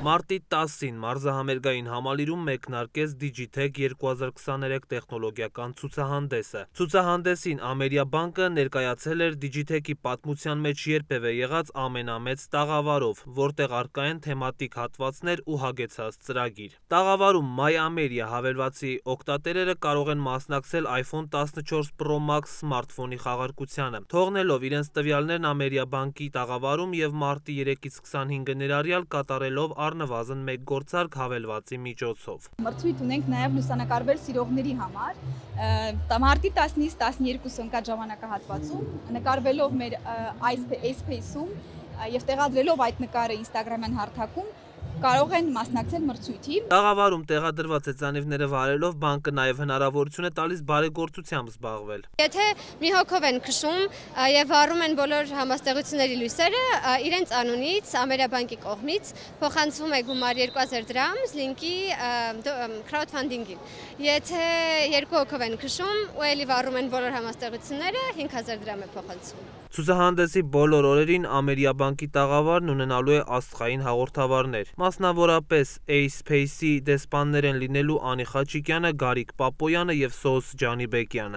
Մարտի 10-ին մարզահամերգային համալիրում մեկնարկեց Digitech 2023 տեխնոլոգիական ցուցահանդեսը։ Ցուցահանդեսին Ամերիաբանկը ներկայացել էր Digitech-ի պատմության մեջ երբևէ եղած ամենամեծ տաղավարով, որտեղ առկա են թեմատիկ հատվածներ ու հագեցած ծրագիր։ Տաղավարում My Ameria հավելվածի օգտատերերը կարող են մասնակցել iPhone 14 Pro Max սմարթֆոնի խաղարկությանը, թողնելով իրենց տվյալներն Ամերիաբանկի տաղավարում եւ մարտի 3-ից 25-ը ներառյալ կատարելով առնվազն մեկ գործարք հավելվածի միջոցով։ Մրցույթ ունենք նաև լուսանկարվել սիրողների համար։ Մարտի 10-ից 12 ընկած ժամանակահատվածում նկարվելով մեր iSpace-ում եւ տեղադրելով այդ նկարը Instagram-յան հարթակում կարող են մասնակցել մրցույթի։ Տաղավարում տեղադրված հեծանիվները վարելով բանկը նաև հնարավորություն է տալիս բարեգործությամբ զբաղվել։ Եթե մի հոգով են քշում եւ վառում են բոլոր համաստեղությունների լույսերը, իրենց անունից Ամերիաբանկի կողմից փոխանցվում է գումար 2000 դրամ Link-ի crowdfunding-ին։ Եթե երկու հոգով են քշում ու էլի վառում են բոլոր համաստեղությունները, 5000 դրամ է փոխանցվում։ Ցուցահանդեսի բոլոր օրերին Ամերիաբանկի տաղավարն ունենալու է աստղային հաղորդավարներ։ Մասնավորապես iSpace-ի դեսպաններ են լինելու Անի Խաչիկյանը, Գարիկ Պապոյանը եւ Սոս Ջանիբեկյանը։